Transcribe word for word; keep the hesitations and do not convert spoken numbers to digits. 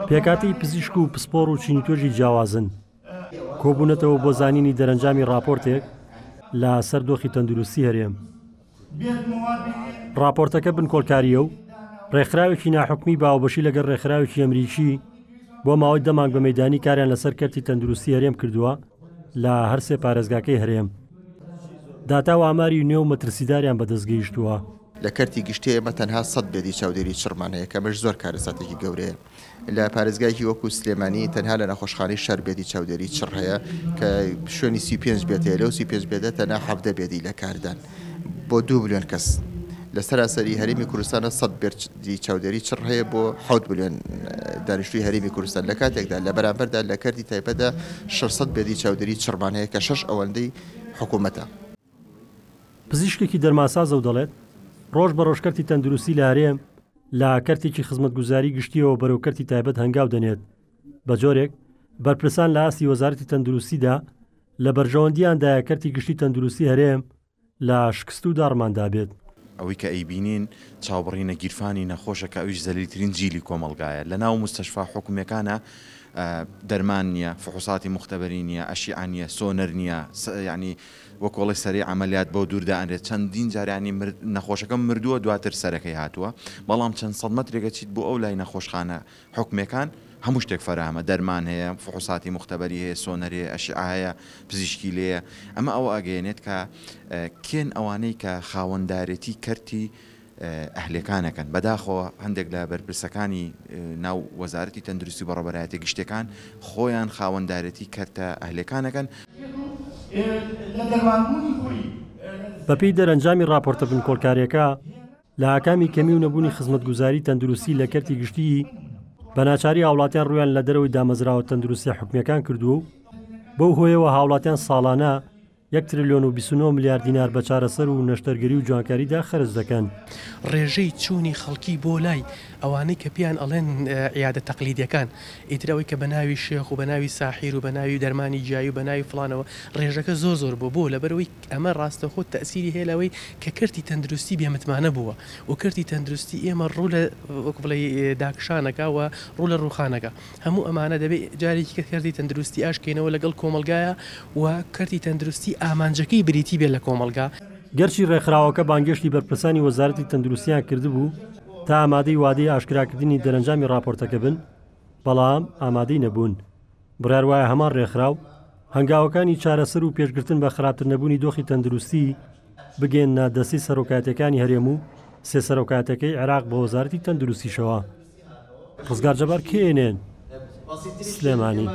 پێکهاتەی پزیشک و پسپۆڕ و چین و توێژی جیاوازن کۆبوونەتەوە بۆ زانینی دەرەنجامی ڕاپۆرتێک لە سەر دۆخی تەندروستی هەرێم. ڕاپۆرتەکە بنکۆڵکارییە و ڕێکخراوێکی ناحکومی باوبەشی لەگەڵ ڕێکخراوێکی ئەمریکی بۆ ماوەی دە مانگ بە مەیدانی کاریان لەسەر کەرتی تەندروستی هەرێم کردووە لە هەرسێ پارێزگاکەی هەرێم. داتا و ئاماری نوێ و مەترسیداریان بەدەست گەیشتووە. لە کەرتی گشتی ئێمە تەنها سەد bed ی چاودێری چڕمان هەیە کە ئەمەش زۆر کارەساتێکی گەورەیە. لە پارێزگایەکی وەکو سلێمانی تەنها لە نەخۆشخانەی شار bed ی چاودێری چڕ هەیە کە شوێنی سی و پێنج bed هەیە، لەو سی و پێنج bed ە تەنها حەڤدە bed ی لە کاردان بۆ دوو ملیۆن کەس. لە سەراسەری هەرێمی کوردستانە سەد bed ی چاودێری چڕ هەیە بۆ حەوت ملیۆن دانیشتووی هەرێمی کوردستان، لە کاتێکدا لە بەرامبەردا لە کەرتی تایبەتدا شەش سەد bed ی چاودێری چڕمان هەیە کە شەش ئەوەندەی حکوومەتە. پزیشکێکی دەرماسازە و دەڵێت ڕۆژ بە ڕۆژ کەرتی تەندروستی لە هەرێم لە کەرتێکی خزمەتگوزاری گشتیەوە بەرەو کەرتی تایبەت هەنگاو دەنێت، بە جۆرێک بەرپرسان لە ئاستی وەزارەتی تەندروستیدا لە بەرژەوەندیاندایە کەرتی گشتی تەندروستی هەرێم لە شکست و داڕماندا بێت. ئەوەی کە ئەیبینین چاوبڕینە گیرفانی نەخۆشە کە ئەویش زەلیلترین جیلی کۆمەڵگایە. لە ناو مستەشفا حکومیەکانە دەرمان نییە، فحوساتی مختبەری نییە، ئەشیعە نییە، سۆنەر نییە، یعنی وەکۆڵی سەری عملیات بۆ دوور دائەنرێت. چەندین جاریانی نەخۆشەکە مردووە دواتر سەرەکەی هاتووە، بەڵام چەند سەد مەترێکە چیت بۆ ئەو لای نەخۆشخانە حکومیەکان هەموو شتێک فەراهەمە، دەرمان هەیە، فحوساتی مختبەری هەیە، سۆنەر هەیە، ئەشیعە هەیە، پزیشکی لێیە. ئەمە ئەوە ئەگەیەنێت کە کێن ئەوانەی کە خاوەندارێتی کەرتی ئەهلەکانەکەن. بەداخەوە هەندێک لە بەرپرسەکانی ناو وەزارەتی تەندروستی و بەڕێوەبەرایەتی گشتیەکان خۆیان خاوەندارێتی کەرتە ئەهلەکانەکەن. بەپێی دەرەنجامی راپۆرتە بنکۆڵکاریەکە لە ئاکامی کەمی و نەبوونی خزمەتگوزاری تەندروستی لە کەرتی گشتی بە ناچاری هاوڵاتیان ڕویان لە دەرەوەی دامەزراوە تەندروستی حکومیەکان کردووە و بەو هۆیەوە هاوڵاتیان ساڵانە یەک تریلیۆن و بیست و نۆ ملیار دینار بە چارەسەر و نەشتەرگەری و جوانکاریدا خەرج دەکەن. ڕێژەی چوونی خەڵکی بۆ لای ئەوانەی کە پێیان ئەڵێن عیادە تەقلیدیەکان، ئیتر ئەوەی کە بە ناوی شێخ و بە ناوی ساحیر و بە ناوی دەرمانی جیایی و بە ناوی فڵانەوە ڕێژەکە زۆر زۆر بوو. بۆ لەبەرەوەی ئەمە ڕاستەخۆ تەئسیری هەیە لەوەی کە کەرتی تەندروستی بێمتمانە بووە و کەرتی تەندروستی ئێمە ڕوو لە وەکو بڵێ داکشانەکە و ڕوو لە ڕووخانەکە. هەموو ئەمانە دەبێت جارێکی کە کەرتی تەندروستی ئاشکەینەوە لەگەڵ کۆمەلگایە و کەرتی تەندروستی ئامانجەکەی بریتی بێت لە کۆمەلگا. گەرچی ڕێکخراوەکە بانگێشتی بەرپرسانی وەزارەتی تەندروستیان کردبوو تا ئامادەی وادەی ئاشکراکردنی دەرەنجامی راپۆرتەکە بن، بەڵام ئامادەی نەبوون. بڕیار وایە هەمان ڕێکخراو هەنگاوەکانی چارەسەر و پێشگرتن بە خراپتر نەبوونی دۆخی تەندروستی بگەێنە دەستی سەرۆکایەتەکانی هەرێم و سێ سەرۆکایەتەکەی عێراق بە وەزارەتی تەندروستیشەوە. ڕزگار جەبار، کێنێن، سلێمانی.